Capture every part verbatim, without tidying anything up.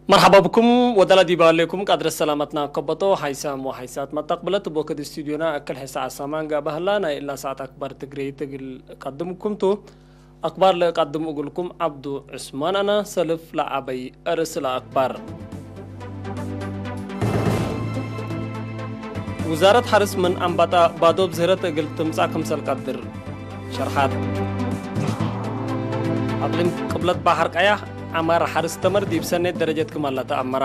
መርሐባ ብኩም ወደላ ዲብ ሌኩም ቃድረት ሰላመትና ከበቶ ሓይሳም ወሓይሳት መተቅብለት እብ ወክድ ስቱድዮና እክል ሕሰ ዐሳማን ጋብሀላ ናይ እላ ሰዓት አክባር ትግሬይት እግል ቀድምኩም ቱ። አክባር ለእቀድም እግልኩም ዐብዱ ዑስማን አነ። ሰልፍ ለዐበይ እርስ ለአክባር። ውዛረት ሐርስ ምን አንባጣ ባዶብ ዝህረት እግል ትምጻእ ክምሰል ቀድር ሸርሐት። አቅሊም ቅብለት በሐር ቀያሕ ዐማር ሐርስ ተመር ዲብ ሰኔት ደረጀት ክም ለተአመረ።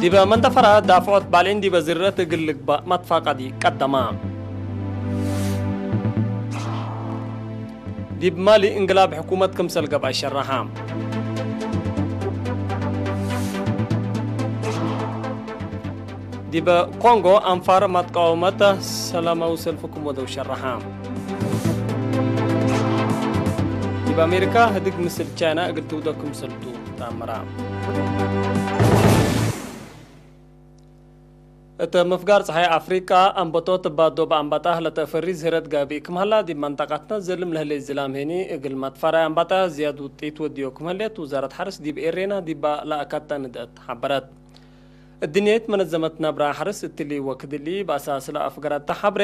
ዲበ መንደፈራ ዳፍዖት ባሌን ዲበ ዝርረት እግል ልግባእ መትፋቀዲ ቀደማ። ዲብ ማሊ እንቅላብ ሕኩመት ክምሰል ገብአ ሸረሐ። ዲበ ኮንጎ አንፋር መትቃወመት ሰላማዊ ሰልፍ ክም ወደው ሸረሐ። ዲብ አሜሪካ ህድግ ምስል ቻይና እግል ትውደቅ ክምሰል ቱ ተአምራ። እት ምፍጋር ጸሓይ አፍሪቃ አንበጦት ባዶብ አንባጣህ ለተአፈሪ ዝህረት ጋብእ ክም ሀላ ዲብ መንጠቀትነ ዘልም ለህሌት ዝላም ሄኒ እግል መትፈራይ አንባጣህ ዝያድ ውጢት ወድዮ ክም ህሌት ውዛረት ሐርስ ዲብ ኤሬና ዲባ ለአካተ ንድአት ሐበረት። እድንየት መነዘመት ነብራ ሐርስ እትሊ ወክድሊ በአሳስ ለአፍገረተ ሐብሬ፣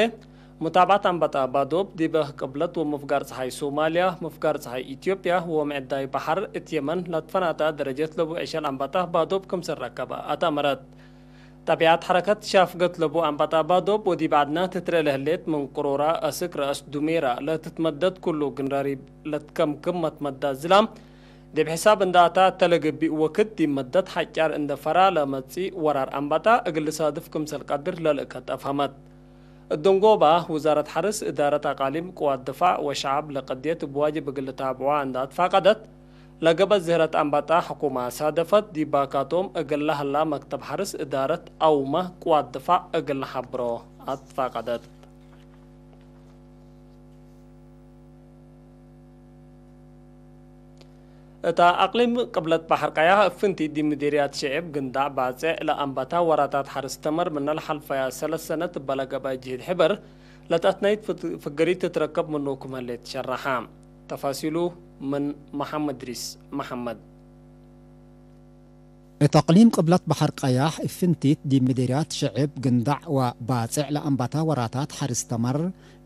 ሙታብዐት አንበጣ ባዶብ ዲበ ቅብለት ወምፍጋር ጸሓይ ሶማልያ፣ ምፍጋር ጸሓይ ኢትዮጵያ ወምዕዳይ በሐር እት የመን ለትፈናተ ደረጀት ለቡ ዕሸል አንበጣ ባዶብ ክምሰል ረከበ አትአመረት። ጠቢዐት ሐረከት ሻፍገት ለቡ አንበጣ ባዶብ ወዲብ ዐድነ ትትረኤ ለህሌት ምን ቅሮራ አስክ ረአስ ዱሜራ ለትትመደድ ኩሉ ግንራሪብ ለትከምክም መትመዳ ዝላም ዲብ ሕሳብ እንደ አታ እተ ለገብእ ወክድ ዲብ መደት ሐጫር እንደ ፈራ ለመጽእ ወራር አንበጣ እግል ልሳድፍ ክምሰል ቀድር ለልእከት አፍሀመት። እብ ደንጎባ ውዛረት ሐርስ፣ እዳረት አቃሊም፣ ቅዋት ድፋዕ ወሸዐብ ለቀድየት እብ ዋጅብ እግል ልታብዖ እንደ አትፋቀደት፣ ለገበት ዝህረት አንበጣ ሕኩመ ሳደፈት፣ ዲብ ባካቶም እግል ለሀላ መክተብ ሐርስ እዳረት አውመ ቅዋት ድፋዕ እግል ለሐብሮ አትፋቀደት። እታ አቅሊም ቅብለት በሐር ቀያሕ እብ ፍንቲት ዲብ ምዴርያት ሸዕብ ግንዳዕ ባጼዕ ለአንበታ ወራታት ሐርስ ተመር ምነ ለሐልፈያ ሰለስ ሰነት እበ ለገብአ ጅህድ ሕበር ለተአትናይት ፍት-፣ ፍገሪት ትትረከብ ምኑ ክም ህሌት ሸረሐ። ተፋሲሉ ምን መሐመድ እድሪስ መሐመድ። እት አቅሊም ቅብለት በሐር ቀያሕ እብ ፍንቲት ዲብ ምዴርያት ሸዕብ ግንዳዕ ወባጼዕ ለአንበታ ወራታት ሐርስ ተመር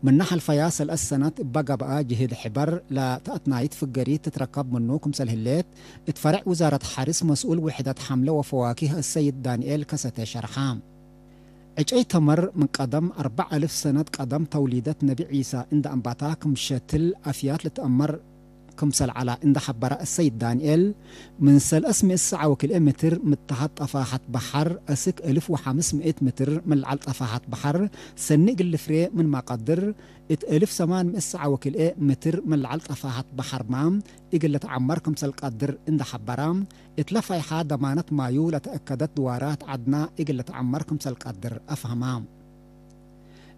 ምነ ሐልፈያ ሰለስ ሰነት እበ ገብአ ጅህድ ሕበር ለተአትናይት ፍገሪት ትትረከብ ምኑ ክምሰል ህሌት፣ እት ፈርዕ ውዛረት ሐርስ መስኡል ውሕደት ሐምለ ወፈዋኪህ አሰይድ ዳንኤል ከሰተ ሸርሐ። ዕጨይ ተመር ምን ቀደም አርበዕ አልፍ ሰነት ቀደም ተውሊደት ነቢ ዒሳ እንደ አንባታ ክም ሸትል አፍያት ልትአመር ክምሰል ዐላ እንደ ሐበረ አሰይድ ዳንኤል፣ ምን ሰለስ ምእት ሰዓ ወክልኤ ምትር ምተሐት ጠፋሐት በሐር አስክ አልፍ ወሐምስ ምእት ምትር ምን ለዐል ጠፋሐት በሐር ሰኒ እግል ልፍሬ ምንመ ቀድር፣ እት አልፍ ሰማን ምእት ሰዓ ወክልኤ ምትር ምን ለዐል ጠፋሐት በሐርመ እግል ልትዐመር ክምሰል ቀድር እንደ ሐበረ፣ እትለ ፋይሐ ደማነት ማዩ ለተአከደት ድዋራት ዐድና እግል ልትዐመር ክምሰል ቀድር አፍሀመ።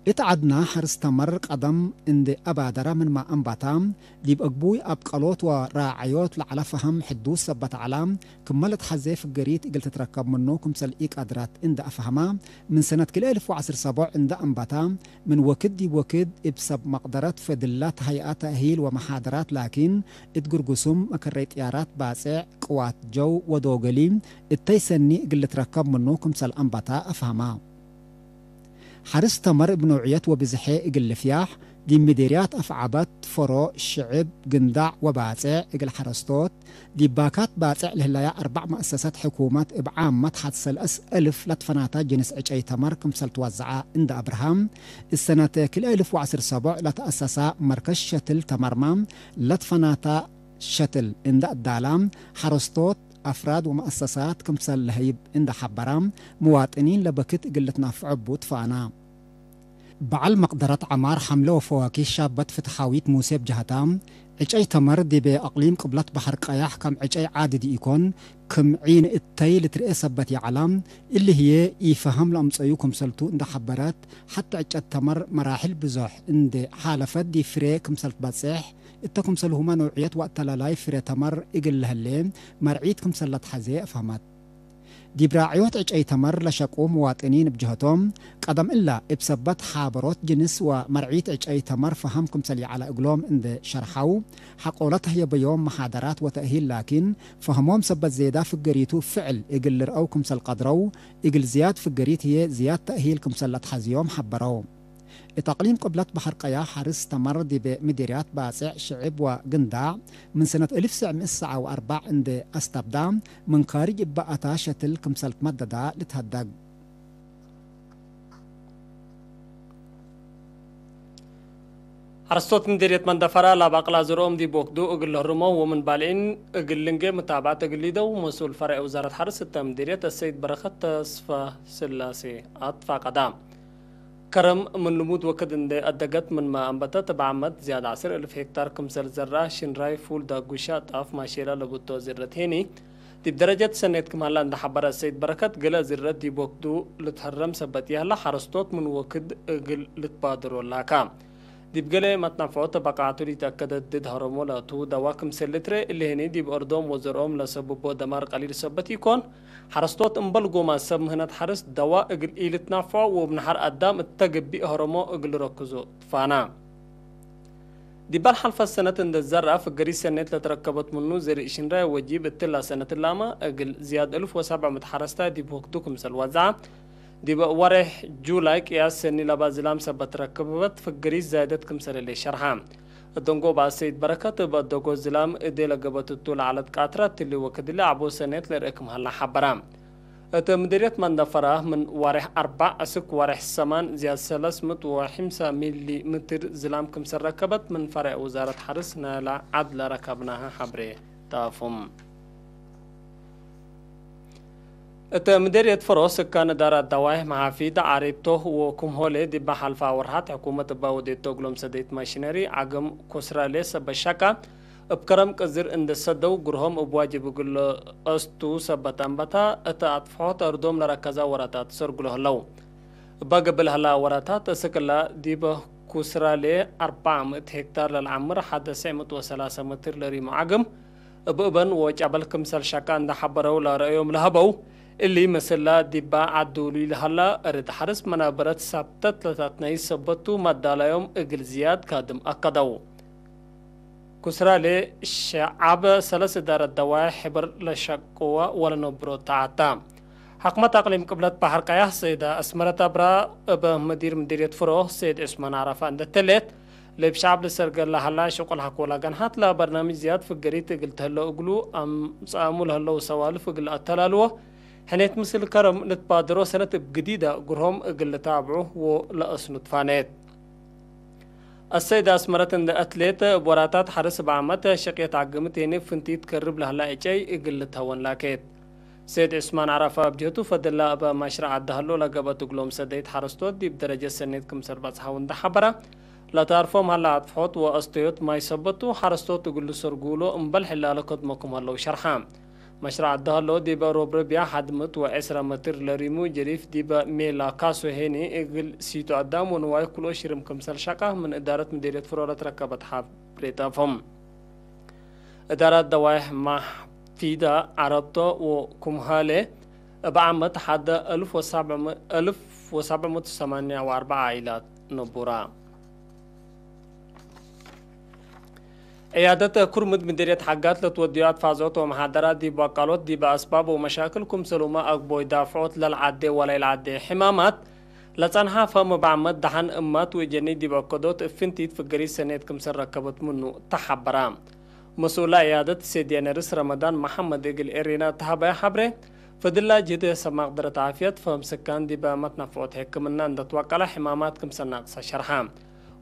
እት ዐድና ሐርስ ተመር ቀደም እንዴ አባደረ ምንመ አንበታ፣ ዲብ አግቡይ አብቀሎት ወራዐዮት ለዐለ ፈሀም ሕዱስ ሰበት ዐላ፣ ክመ ለትሐዜ ፍገሪት እግል ትትረከብ ምኑ ክምሰል ኢቀድረት እንደ አፍሀመ፣ ምን ሰነት ክልኤ አልፍ ወዐስር ሰቦዕ እንደ አንበታ፣ ምን ወክድ ዲብ ወክድ እብ ሰብ መቅደረት ፈድለት ሀይአት ተእሂል ወመሓደራት ላኪን፣ እት ግርጉሱም፣ መከረይ ጥያራት፣ ባጼዕ፣ ቅዋት ጀው ወዶገሊ እተይ ሰኒ እግል ልትረከብ ምኑ ክምሰል አንበታ አፍሀመ። ሐርስ ተመር እብ ኖዕየት ወብዝሐ እግል ልፍያሕ፣ ዲብ ምዴርያት አፍዐበት፣ ፈሮ፣ ሽዕብ፣ ግንዳዕ ወባጼዕ እግል ሐረስቶት፣ ዲብ ባካት ባጼዕ ለህለያ አርበዕ መአሰሰት ሕኩመት እብ ዓመት ሐድ ሰለስ አልፍ ለትፈናተ ጅንስ ዕጨይ ተመር ክምሰል ትወዘዐ እንደ አብርሃም፣ እሰነት ክልኤ አልፍ ወዐስር ሰቦዕ ለተአሰሰ መርከዝ ሸትል ተመርመ ለትፈናተ ሸትል እንደ አዳላ፣ ሐረስቶት፣ አፍራድ ወመአሰሳት ክምሰል ለሀይብ እንደ ሐበረ፣ ምዋጥኒን ለበክት እግል ልትናፍዖ እቡ ትፋና። በዐል መቅደረት ዐማር ሐምለ ወፈዋኪህ ሻበት ፍትሓዊት ሙሴ እብ ጀሀታ፣ ዕጨይ ተመር ዲብ አቅሊም ቅብለት በሐር ቀያሕ ከም ዕጨይ ዓዲ ዲኢኮን፣ ክም ዒን እተይ ልትርኤ ሰበት ይዐላ፣ እሊ ህዬ ኢፈሀም ለአምጸዩ ክምሰልቱ እንደ ሐበረት፣ ሐቴ ዕጨት ተመር መራሕል ብዞሕ እንዴ ሓለፈት ዲብ ፍሬ ክምሰል ትበጼሕ፣ እተ ክምሰልሁመ ኖዕየት ወአተላላይ ፍሬ ተመር እግል ለህሌ መርዒት ክምሰል ለትሐዜ አፍሀመት። ዲብ ራዕዮት ዕጨይ ተመር ለሸቁ ምዋጥኒን እብ ጀህቶም፣ ቀደም እለ እብ ሰበት ሓበሮት ጅንስ ወመርዒት ዕጨይ ተመር ፈሀም ክምሰል ይዐለ እግሎም እንዴ ሸርሐው፣ ሐቆለ ተህየበዮም መሓደራት ወተእሂል ላኪን፣ ፈህሞም ሰበት ዜዳ ፍገሪቱ ፍዕል እግል ልርአው ክምሰል ቀድረው፣ እግል ዝያድ ፍገሪት ህዬ ዝያድ ተእሂል ክምሰል ለትሐዝዮም ሐበረው። እት አቅሊም ቅብለት በሐር ቀያሕ ሐርስ ተመር ዲብ ምዲርያት ባጽዕ ሽዕብ ወግንዳዕ ምን ሰነት እልፍ ሰዕ ምእት ሰዓ ወአርበዕ እንዴ አስተብዳ፣ ምን ካርጅ እበ አታ ሸትል ክምሰል ትመደዳ ልትሀደግ። ሐረስቶት ምዲርየት መንደፈራ ለአባቅላ ዝርኦም ዲብ ወክዱ እግል ለህርሞ ወምን ባልዒን እግል ልንጌ ምታብዐት እግል ሊደው መስኡል ፈርዕ ውዛረት ሐርስ እተ ምዲርየት አሰይድ በረከት ተስፈ ስላሴ አትፋቀዳ። ከረም ምን ልሙድ ወክድ እንዴ አደገት ምንመ አንበተት፣ እብ ዓመት ዝያድ ዐስር እልፍ ሄክታር ክምሰል ዘርአ፣ ሽንራይ፣ ፉል፣ ዳጉሻ፣ ጣፍ፣ ማሼላ ለቡቶ ዝረት ሄኒ፣ ዲብ ደረጀት ሰኔት ክም ሀላ እንዴ ሐበረ አሰይድ በረከት፣ ገሌ ዝረት ዲብ ወክዱ ልትሀረም ሰበት ይሀላ፣ ሐረስቶት ምን ወክድ እግል ልትባድሮ ላካ። ዲብ ገሌ መትነፍዖት በቃዕቱ ሊተአከደ ድድ ሀረሞ ለአቱ ደዋ ክምሰል ልትሬ፣ እሊ ሄኒ ዲብ አርዶም ወዘርኦም ለሰብቦ ደማር ቀሊል ሰበት ኢኮን፣ ሐረስቶት እምበል ጎማ ሰብ ምህነት ሐርስ ደዋ እግል ኢልትናፈዖ ወእብ ነሐር አዳም እተ ገብእ ሀረሞ እግል ረክዞ ትፋና። ዲባል ሐልፈት ሰነት እንደ ዘርአ ፍገሪት ሰኔት ለትረከበት ምኑ ዘርእ ሽንራይ ወጂብ እትላ ሰነት ላመ እግል ዝያድ እልፍ ወሰብዕ ምእት ሐረስታይ ዲብ ወክዱ ክምሰል ወዝዐ። ዲብ ወሬሕ ጁላይ ቅያስ ሰኒ ለባ ዝላም ሰበት ረከበት ፍገሪት ዛይደት ክምሰል ህሌት ሸርሐ። እደንጎ በአሰይድ በረከት እብ አደጎ ዝላም እዴ ለገበት እቱ ለዐለት ቃትራ እትሊ ወክድሊ ዐቦ ሰኔት ለርእ ክም ሀላ ሐበረ። እት ምድርየት መንደፈራ ምን ዋሬሕ አርበዕ እስክ ዋሬሕ ሰማን ዝያድ ሰለስ ምእት ወሐምሳ ሚሊ ምትር ዝላም ክምሰል ረከበት ምን ፈሬዕ ውዛረት ሐርስ ናይላ ዐድ ለረከብናሀ ሐብሬ ጣፉም። እት ምድርየት ፍሮ ስካን እዳራት ደዋይሕ መሓፊድ ዓሪብቶ ወክም ሆሌ ዲበ ሐልፋ ወርሓት ሕኩመት እባ ወዴቶ እግሎም ሰደይት ማሽነሪ ዓግም ኩስራሌ ሰበት ሸቃ እብ ከረም ቅዝር እንዴ ሰደው፣ ግርሆም እብ ዋጅብ እግል ለአስቱ ሰበት አንበታ፣ እት አጥፍሖት አርዶም ለረከዛ ወራታት ሰርግሎ ህለው። እበ ገብእ ለሀላ ወራታት፣ እስክ እላ ዲብ ኩስራሌ አርበዕ ምእት ሄክታር ለልዓምር ሐደ ሰዕ ምእት ወሰላሰ ምትር ለሪሙ ዓግም፣ እብ እበን ወጨበል ክምሰል ሸቃ እንዴ ሐበረው ለረአዮም ለሀበው፣ እሊ ምስላ ዲባ ዐድ ዱሉይ ለሀላ እርድ ሐርስ መናበረት ሳብተት ለታትናይት ሰበቱ፣ መዳላዮም እግል ዝያድ ካድም አከደው። ኩስራሌ ሸዓብ ሰለስ እዳረት ደዋይ ሕብር ለሸቅወ ወለነብሮ ተዓታ። ሕክመት አቅሊም ቅብለት በሐር ቀያሕ ሰይድ አስመረት አብራ እብ ምዲር ምዲርየት ፍሮ ሰይድ ዑስማን አራፋ እንዴ ተሌት፣ ለእብ ሸዓብ ልሰርገል ለሀላ ሽቁል ሐቆላ ገንሐት ለበርናምጅ ዝያድ ፍገሪት እግል ተህለው እግሉ አምጽአሙ ለህለው ሰዋልፍ እግል አተላልዎ፣ ሕኔት ምስል ከረም ልትባደሮ ሰነት እብ ግዲዳ ግርሆም እግል ልታብዑ ወለአስኑ ትፋኔት። አሰይድ አስመረት እንዴ አትሌት፣ እብ ወራታት ሐርስ እብ ዓመት ሸቅየት ዓግምት ሄኒ ፍንቲት ከርብ ለህላ ዕጨይ እግል ልትሀወን ላኬት። ሰይድ ዑስማን ዐረፋ እብ ጀህቱ፣ ፈድላ እብ መሽረዕ ዐዲ ሀሎ ለገብአት እግሎም ሰደይት ሐረስቶት ዲብ ደረጀት ሰኔት ክምሰል በጽሐው እንዴ ሐበረ፣ ለታርፎም ሀላ አጥፍሖት ወአስተዮት ማይ ሰበቱ፣ ሐረስቶት እግል ልሰርጉሎ እምበል ሕላለ ከድሞ ክም ሀለው ሸርሐ። መሽረዕ ዐዲ ሀሎ ዲብ ሮብ ረቢዕ ሐድ ምእት ወዕስረ መትር ለሪሙ ጀሪፍ ዲበ ሜላ ካሶ ሄኒ እግል ሲቱ አዳም ወንዋይ ክልኦ ሽርም ክምሰል ሸቃ ምን እዳረት ምዴርየት ፍሮ ለትረከበት ሐብሬ ጣፎም። እዳረት ደዋይሕ ማሕፊዳ ዐረብቶ ወኩምሃሌ እብ ዓመት ሐደ እልፍ ወሰብዕ ምእት፣ እልፍ ወሰብዕ ምእት ወሰማንያ ወአርበዕ ዓኢላት ነቡራ። ዕያደት ኩርምድ ምድርየት ሐጋት ለትወድዮ አትፋዝዖት ወመሓደራት ዲብ ወቃሎት ዲበ አስባብ ወመሻክል ክምሰልሁመ አግቦይ ዳፍዖት ለልዓዴ ወለኢልዓዴ ሕማማት ለጸንሐ ፈም እብ ዓመት ደሐን እማት ወእጀኒ ዲብ አከዶት እብ ፍንቲት ፍገሪት ሰኔት ክምሰል ረከበት ምኑ ተሐበረ። መስኡል ዕያደት ሴድያነርስ ረመዳን መሐመድ እግል ኤሬና ተሀበየ ሐብሬ፣ ፈድላ ጅህድ ሰብ መቅደረት ዓፍየት ፈም ስካን ዲበ መትነፍዖት ሕክምና እንደ ትወቀለ ሕማማት ክምሰል ናቅሰ ሸርሐ።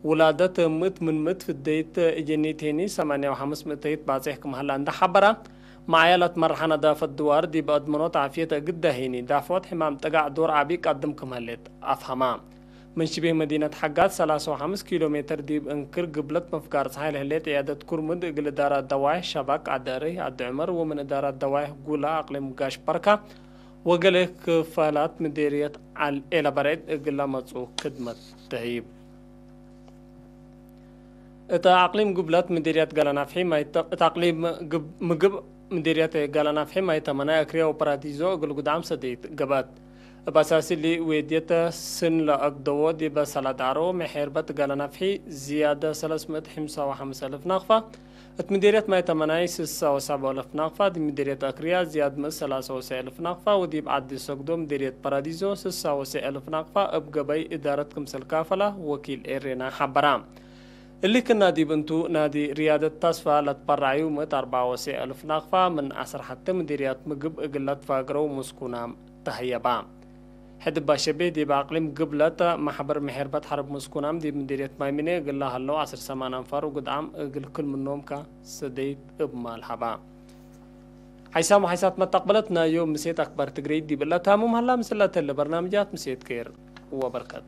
ውላደት ምእት ምን ምእት ፍደይት እጀኒት ሄኒ ሰማንያ ወሐምስ ምእተይት ባጽሕ ክም ሀላ እንደ ሐበረ፣ መዓያ ለትመርሐ ነዳፈት ድዋር ዲብ አድመኖት ዓፍየት እግዳ ሄኒ ዳፍዖት ሕማም ጥጋዕ ዶር ዐቢ ቀድም ክም ህሌት አፍሀማ። ምን ሽቤህ መዲነት ሐጋት ሰላሳ ወሐምስ ኪሎ ሜትር ዲብ እንክር ግብለት መፍጋር ጸሓይ ለህሌት ዕያደት ኩርምድ እግል እዳራት ደዋይሕ ሸባክ፣ ዐዲ አረይ፣ ዐዲ ዑመር ወምን እዳራት ደዋይሕ ጉላ አቅሊም ጋሽ በርካ ወገሌ ክፋላት ምዴርየት ዐል ኤለበሬድ እግል ለመጽኡ ክድመት ተህይብ። እት አቅሊም ግብለት ምዴርየት ጋላናፍሒ ማይ ተ-፣ እት አቅሊም ግብ-፣ ምግብ ምዴርየት ጋላናፍሒ ማይ ተመናይ፣ አክርያ ወፓራዲዞ እግል ጉድዓም ሰደይት ገብአት። እብ አሳሲ እሊ ዌድየት ስን ለአግደዎ ዲበ ሰላዳሮ መሔርበት ጋላናፍሒ ዝያደ ሰለስ ምእት ሐምሳ ወሐምስ አልፍ ናቅፋ፣ እት ምዴርየት ማይ ተመናይ ስሳ ወሰብዓ አልፍ ናቅፋ፣ ዲብ ምዴርየት አክርያ ዝያድ ምእት ሰላሳ ወሰዕ አልፍ ናቅፋ ወዲብ ዐዲ ሰግዶ ምዴርየት ፓራዲዞ ስሳ ወሰዕ አልፍ ናቅፋ እብ ገበይ እዳረት ክምሰል ካፈላ ወኪል ኤሬና ሐበራ። እሊ ክና ዲብ እንቱ፣ ናዲ ርያደት ታስፋ ለትበረዐዩ ምእት አርበዓ ወሰዕ አልፍ ናቅፋ ምን ዐስር ሐቴ ምዴርያት ምግብ እግል ለትፋግረው ምስኩናም ተህየባ። ሕድ ባሸቤ ዲብ አቅሊም ግብለት፣ መሕበር መሔርበት ሐርብ ምስኩናም ዲብ ምዴርየት ማይምኔ እግል ለሀለው ዐስር ሰማን አንፋር ወግድዓም እግል ክል ምኖምከ ሰደይት እብ ማል ሀባ። ሐይሳም ወሐይሳት መተቅበለት ናይ ዮም ምሴት አክባር ትግሬይ ዲብ እለ ታሙም ሀላ። ምስል ለተለ በርናምጃት ምሴት ኬር ወበርከት።